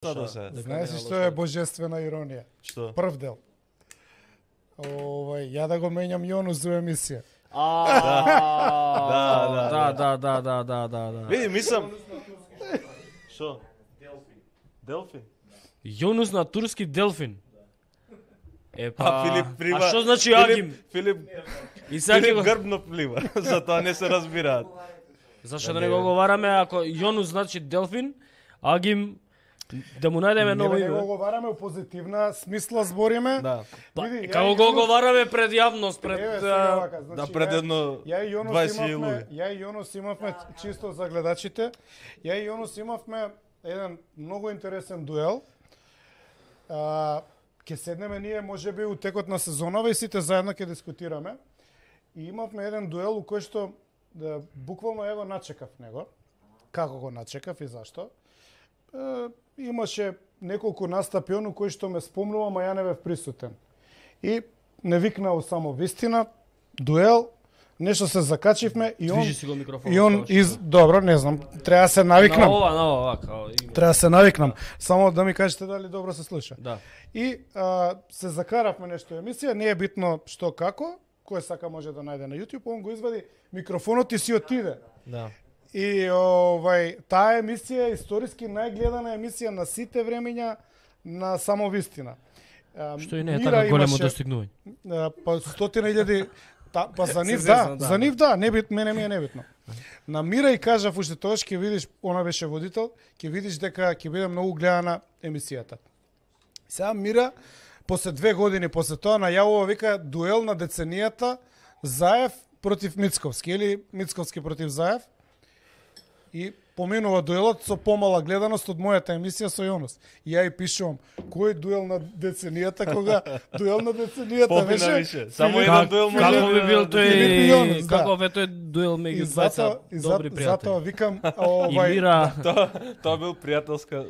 Знаеш што е божествена иронија? Што? Прв дел. Ја да го менјам Јонус за емисија. Да. Види, мислам. Што? Делфин. Јонус на турски делфин. Филип плива. А што значи Агим? Филип Филип грбно плива, затоа не се разбираат. Зашто да не го говораме ако Јонус значи делфин, Агим да му најдеме ново име. Не име. го говораме у позитивна смисла збориме. Да. Како го говораме пред јавност, пред да пред едно 20 луѓе. Ја и Јонус имавме чисто за гледачите. Ја и Јонус имавме еден многу интересен дуел. Ќе седнеме ние можеби у текот на сезонава и сите заедно ќе дискутираме. И имавме еден дуел у кој што буквално го начекав него. Како го начекав и зашто? Имаше неколку настапи у кои што ме спомнувам, а ја не бев присутен. И не викнал само вистина, дуел, нешто се закачивме и он... Движи си го микрофонот. Добро, не знам, треба да се навикнам. На ова, као... Треба да се навикнам. Само да ми кажете дали добро се слуша. Да. И се закаравме нешто емисија, не е битно што како, кој сака може да најде на YouTube, он го извади микрофонот и си отиде. Да. И таа емисија е историски најгледана емисија на сите времења на само вистина. Што и не е така големо достигнување. Па 100.000 па за нив да, за нив да, мене ми е небитно. На Мира и кажав уште тоаш ќе видиш, она беше водител, ќе видиш дека ќе биде многу гледана емисијата. Сега Мира после 2 години после тоа најавува вика дуел на деценијата Заев против Мицковски или Мицковски против Заев. И поминува дуелот со помала гледаност од мојата емисија со Јонус. И ја и пишувам, кој дуел на деценијата, кога дуел на деценијата беше? Само еден дуел може. Како би бил тој, каков е тој дуел меѓу двајца добри пријатели. Затоа викам, И Мира. Тоа бил пријателска